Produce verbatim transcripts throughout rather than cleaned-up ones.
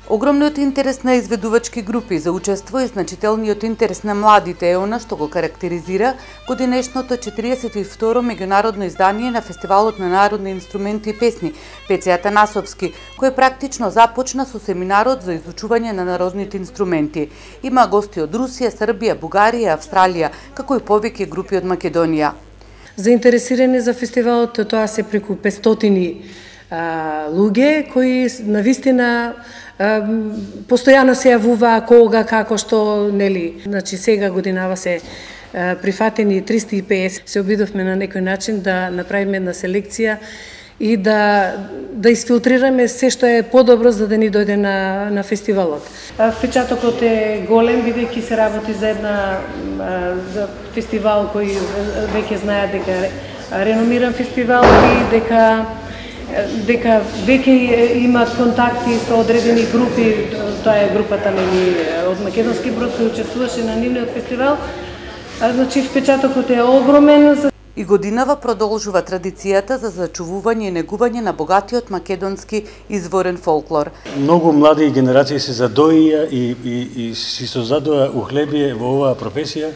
Огромниот интерес на изведувачки групи за учество и значителниот интерес на младите е она што го карактеризира годинешното четириесет и второ меѓународно издание на Фестивалот на народни инструменти и песни Пеце Атанасовски, кој практично започна со семинарот за изучување на народните инструменти. Има гости од Русија, Србија, Бугарија, Австралија, како и повеќе групи од Македонија. Заинтересирани за фестивалот тоа се преку петстотини луѓе кои навистина постојано се јавува кога, како, што, нели. Значи сега годинава се прифатени триста и песет. Се обидовме на некој начин да направиме една селекција и да да изфилтрираме се што е подобро за да ни дојде на на фестивалот. Впечатокот е голем, бидејќи се работи за една за фестивал кој веќе знаат дека реномиран фестивал и дека дека веќе имаат контакти со одредени групи, тоа е групата нели од македонски брод кој учествуваше на нивниот фестивал. Значи впечатокот е огромен. И годинава продолжува традицијата за зачувување и негување на богатиот македонски изворен фолклор. Многу млади генерации се задоија и, и, и си создадоа ухлебие во оваа професија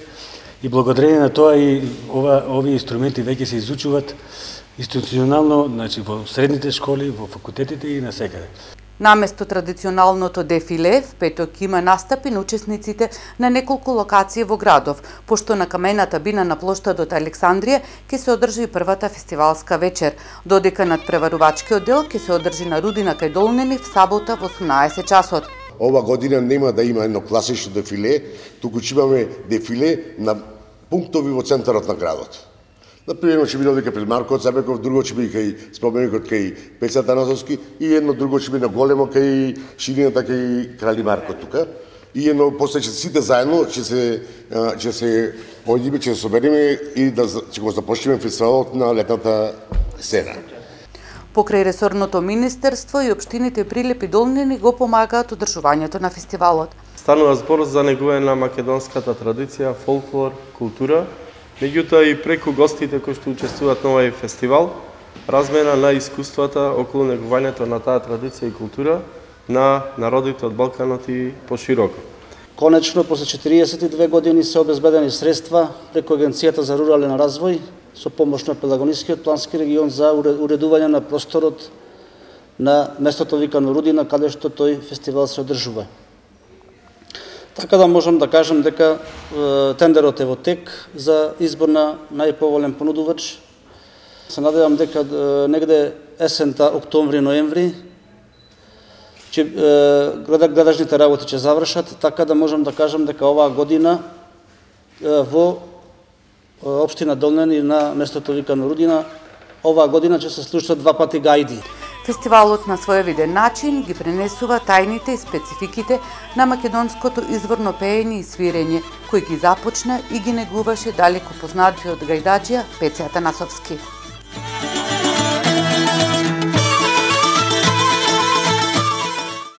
и благодарение на тоа и ова, овие инструменти веќе се изучуваат институционално, значи во средните школи, во факултетите и насекаде. Наместо традиционалното дефиле, в петок има настапи на учесниците на неколку локации во градов, пошто на камената бина на плоштадот Александрија ќе се одржи првата фестивалска вечер, додека надпреварувачкиот дел ќе се одржи на Рудина кај Долнени в сабота во осумнаесет часот. Ова година нема да има едно класично дефиле, туку ќе имаме дефиле на пунктови во центарот на градот. Например, ќе биде овде пред Марко Цабеков, друго ќе биде кај споменикот кај Пеце Атанасовски и едно друго ќе биде на големо кај ширината кај Крали Марко тука. И едно после ќе сите заедно ќе се ќе се појдиме, ќе се собереме и да ќе го започнеме фестивалот на летната сцена. Покрај ресорното министерство и општините Прилеп и Долнени го помагаат одржувањето на фестивалот. Станува збор за негување на македонската традиција, фолклор, култура. Меѓутоа и преку гостите кои што учествуваат на овој фестивал, размена на искуствата околу негувањето на таа традиција и култура на народите од Балканот и пошироко. Конечно, после четириесет и две години се обезбедени средства преку Агенцијата за рурален развој со помош на Пелагонискиот плански регион за уредување на просторот на местото викано Рудина, каде што тој фестивал се одржува. Така да можам да кажам дека е, тендерот е во тек за избор на најповолен понудувач. Се надевам дека е, негде есента, октомври-ноември, че е, градажните работи ќе завршат, така да можам да кажам дека оваа година е, во општина Долнени на местото викано Рудина, оваа година ќе се слушаат два пати гајди. Фестивалот на своевиден начин ги пренесува тајните и спецификите на македонското изворно пеење и свирење, кој ги започна и ги негуваше далеку познатиот гајдаџија Пеце Атанасовски.